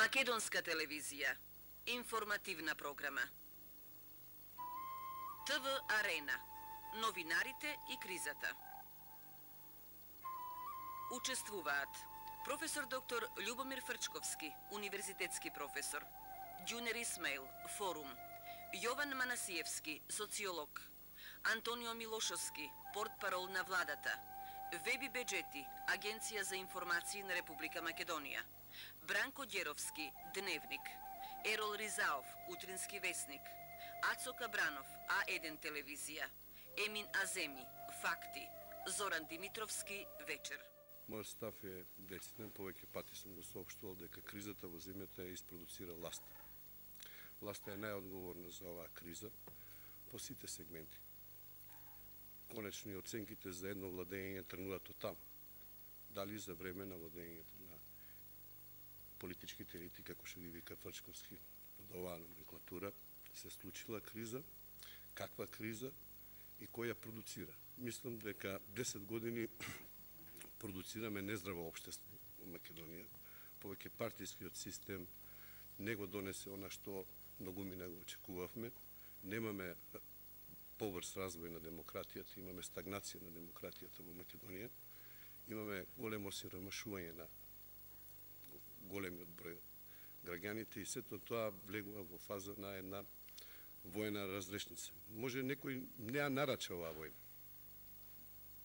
Македонска телевизија. Информативна програма. ТВ Арена. Новинарите и кризата. Учествуваат професор доктор Љубомир Фрчковски, универзитетски професор, Ѓунер Исмаил, форум, Јован Манасиевски, социолог, Антонио Милошовски, портпарол на владата, Веби Беџети, Агенција за информации на Република Македонија, Бранко Ѓеровски, Дневник, Ерол Ризаов, Утрински весник, Ацо Кабранов, А1 телевизија, Емин Аземи, Факти, Зоран Димитровски, Вечер. Мојот став е дециден, повеќе пати сум го соопштувал дека кризата во земјата ја испроducира власта. Власта е најодговорна за оваа криза по сите сегменти. Конечно и оценките за едно владење тргнуваат од таму. Дали за време на владењето на политичките елити, како што ги вика Фрчковски, под оваа номенклатура, се случила криза, каква криза и кој ја продуцира. Мислам дека 10 години продуцираме нездраво општество во Македонија. Повеќе партискиот систем не го донесе она што многумина го очекувавме. Немаме побрз развој на демократијата, имаме стагнација на демократијата во Македонија. Имаме големо осиромашување на големиот број граѓаните и сето тоа влегува во фаза на една војна разрешница. Може некој не ја нарача оваа војна.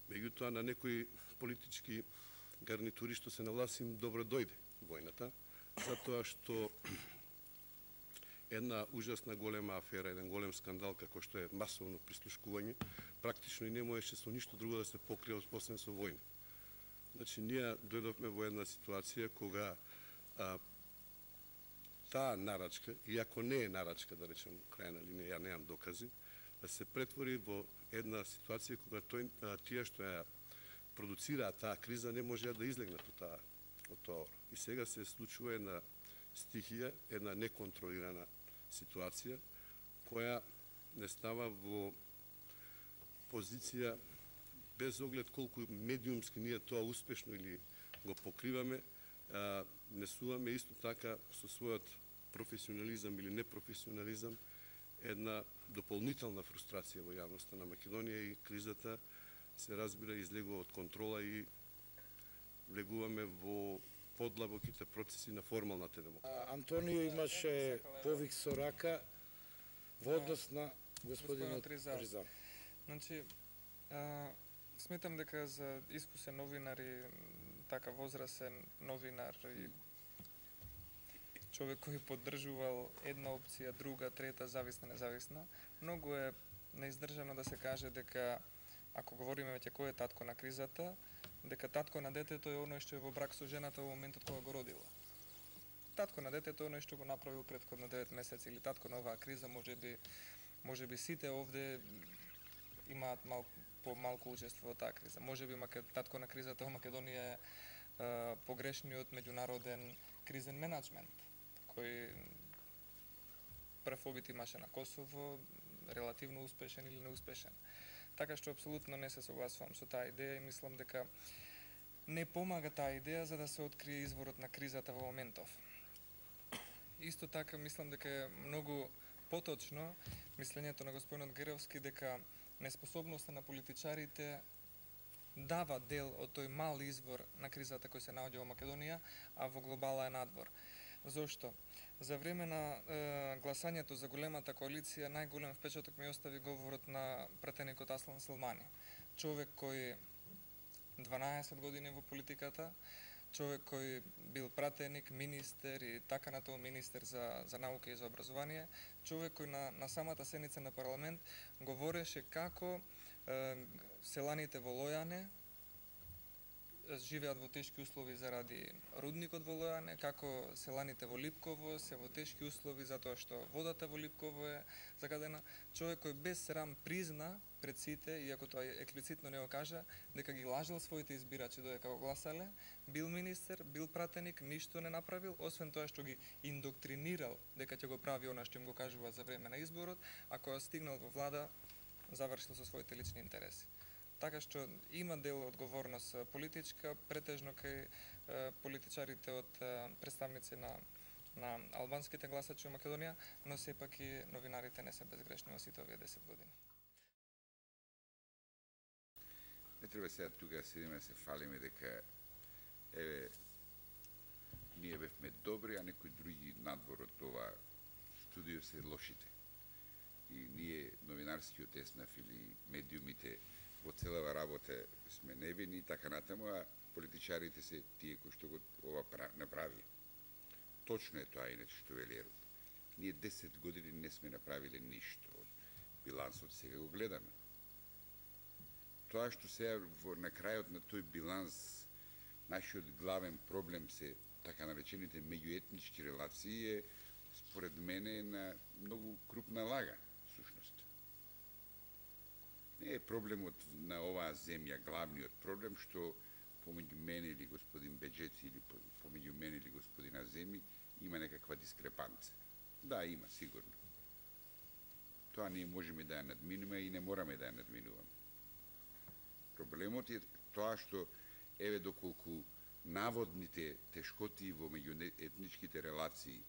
Меѓутоа на некои политички гарнитури што се на власт им добро дојде војната, затоа што една ужасна голема афера, еден голем скандал како што е масовно прислушкување, практично и не можеше со ништо друго да се покрие освен со војна. Значи, ние дојдовме во една ситуација кога таа нарачка, иако не е нарачка, да речем, крајна линија, ја неам докази, да се претвори во една ситуација кога тие што ја продуцираат таа криза не можеа да излегнат од тоа. И сега се случува една стихија, една неконтролирана ситуација, која не става во позиција без оглед колку медиумски ние тоа успешно или го покриваме, несуваме исто така со својот професионализам или непрофесионализам една дополнителна фрустрација во јавноста на Македонија и кризата се разбира излегува од контрола и влегуваме во подлабоките процеси на формалната демократија. Антонио имаше повик со рака во однос на господинот Риза. Значи, сметам дека за искусен новинар и така возрасен новинар и човек кој поддржувал една опција, друга, трета, зависна, независна, многу е неиздржано да се каже дека, ако говориме веќе кој е татко на кризата, дека татко на детето е оној што е во брак со жената во моментот кога го родила. Татко на детето е оној што го направил претходно 9 месеци, или татко на оваа криза, можеби сите овде имаат малку учество во таа криза. Можеби татко на кризата во Македонија е погрешниот меѓународен кризен менеджмент, кој прв обид имаше на Косово, релативно успешен или неуспешен. Така што апсолутно не се согласувам со таа идеја и мислам дека не помага таа идеја за да се открие изворот на кризата во моментов. Исто така мислам дека е многу поточно мислењето на господинот Ѓеровски дека неспособноста на политичарите дава дел од тој мал извор на кризата кој се наоѓа во Македонија, а во глобала е надвор. Зошто? За време на гласањето за големата коалиција најголем впечаток ми остави говорот на пратеникот Аслан Селмани. Човек кој 12 години во политиката, човек кој бил пратеник, министер и така натаму министер за наука и за образование, човек кој на самата седница на парламент говореше како селаните во Лојане живеат во тешки услови заради рудникот во Лојане, како селаните во Липково се во тешки услови затоа што водата во Липково е загадена. Човек кој без срам призна пред сите, иако тоа експлицитно не го кажа, дека ги лажал своите избирачи додека го гласале, бил министер, бил пратеник, ништо не направил, освен тоа што ги индоктринирал дека ќе го прави она што им го кажува за време на изборот, а кога стигнал во влада, завршил со своите лични интереси. Така што има дел одговорност политичка, претежно кај политичарите од представници на на албанските гласачи во Македонија, но сепак и новинарите не се безгрешни во сите овие 10 години. Не треба сега тука да седиме да се фалиме дека еве ние бевме добри, а некои други надвор од ова студио се лошите. И ние, новинарскиот еснав или медиумите, во целава работа сме невини и така натаму, а политичарите се тие кои што го ова направи. Точно е тоа, иначе, што вели Ероб. Ние 10 години не сме направиле ништо. Од билансот сега го гледаме. Тоа што сега на крајот на тој биланс нашиот главен проблем се така наречените меѓуетнички релации е според мене на многу крупна лага, сушност. Не е проблемот на оваа земја главниот проблем што помеѓу мене или господин Беџеци или помеѓу мене или господин Аземи има некаква дискрепанца. Да, има, сигурно. Тоа ние можеме да ја надминуваме и не мораме да ја надминуваме. Проблемот е тоа што, еве, доколку наводните тешкоти во меѓуетничките релации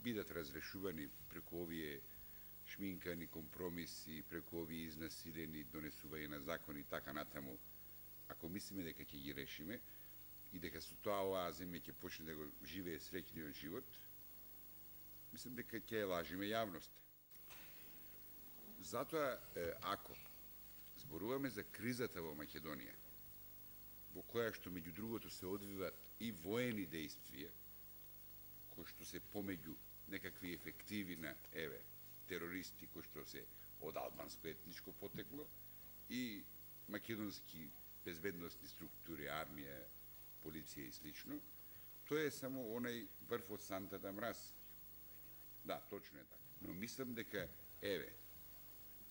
бидат разрешувани преку овие шминкани компромиси, преку овие изнасилени донесување на закони и така натаму, ако мислиме дека ќе ги решиме и дека со тоа оваа земја ќе почне да го живее среќниот живот, мислам дека ќе лажиме јавноста. Затоа, ако зборуваме за кризата во Македонија, во која што меѓу другото се одвиват и воени дејствија, кои што се помеѓу некакви ефективи на, еве, терористи кои што се од албанско етничко потекло и македонски безбедностни структури, армија, полиција и слично, тоа е само онај врв од сантата мраз. Да, точно е така. Но мислам дека, еве,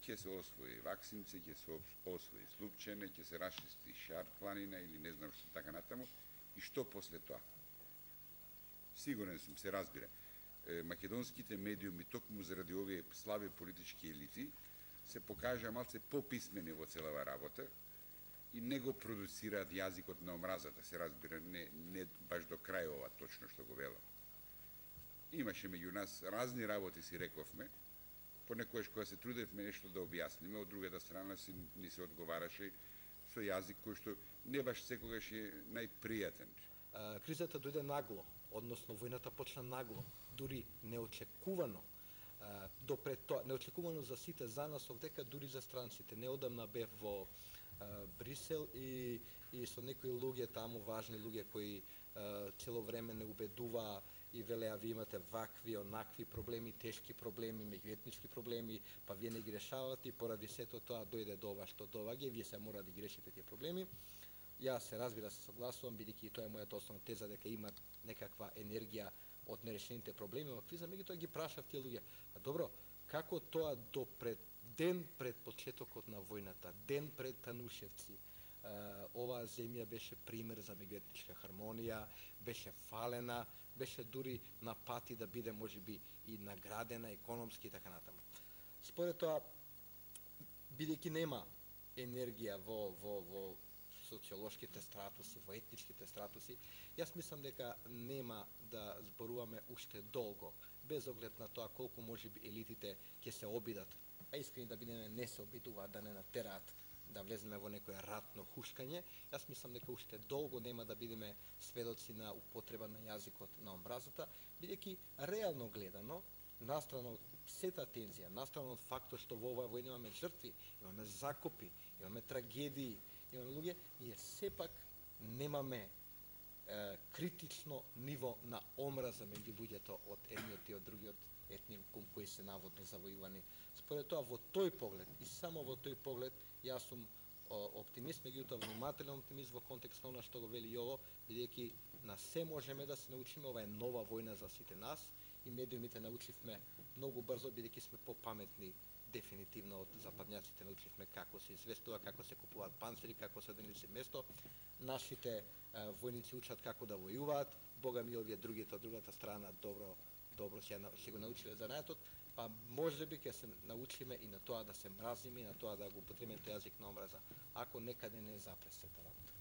ќе се освои Ваксинце, ќе се освои Слупчене, ќе се расчисти Шар планина или не знам што така натаму, и што после тоа? Сигурен сум, се разбира. Македонските медиуми, токму заради овие слаби политички елити, се покажа малце пописмени во целава работа и не го продуцираат јазикот на омразата, се разбира, не баш до крај ова точно што го велам. Имаше меѓу нас разни работи, си рековме, понекојаш кога се трудевме нешто да објасниме, од другата страна ни се одговараше со јазик кој што не баш секогаш е најпријатен. Кризата дојде нагло, односно војната почна нагло, дури неочекувано. Допред тоа, неочекувано за сите, за нас овдека, дури за странците. Неодамна бев во Брисел и со некои луѓе таму, важни луѓе кои цело време не убедуваа и велеа ви имате вакви, онакви проблеми, тешки проблеми, меѓуетнички проблеми, па вие не ги решавате и поради сето тоа дојде до ова што доаѓа, вие се мора да ги решите тие проблеми. Јас се разбира се согласувам, бидејќи тоа е мојата основна теза дека има некаква енергија од нерешените проблеми во криза, меѓутоа ги прашав тие луѓе. А добро, како тоа ден пред почетокот на војната, ден пред Танушевци, оваа земја беше пример за меѓуетничка хармонија, беше фалена, беше дури на пати да биде можеби и наградена економски и така натаму. Според тоа, бидејќи нема енергија во социолошките стратуси, во етничките стратуси, јас мислам дека нема да зборуваме уште долго, без оглед на тоа колку можеби елитите ќе се обидат, а искрени да бидеме не се обидуваат да не натераат да влеземе во некој ратно хушкање. Јас мислам дека уште долго нема да бидеме сведоци на употреба на јазикот на омразата, бидејќи реално гледано, настрана од сета тензија, настрана од фактот што во оваа војна имаме жртви, имаме закопи, имаме трагедии, имаме луѓе, ние сепак немаме критично ниво на омраза меѓу луѓето од едниот и од другиот етникум кои се наводно завојувани. Според тоа, во тој поглед и само во тој поглед, јас сум оптимист, меѓутоа внимателен оптимист во контекст на она што го вели Јово, бидејќи на се можеме да се научиме, ова е нова војна за сите нас и медиумите научивме многу брзо, бидејќи сме попаметни дефинитивно од западњаците, научивме како се известува, како се купуваат панцири, како се денеси место. Нашите војници учат како да војуваат, бога ми овие другите од другата страна добро ќе го научиле занаетот, па можеби ќе се научиме и на тоа да се мразиме и на тоа да го употребиме тој јазик на омраза, ако некаде не запре сета работа.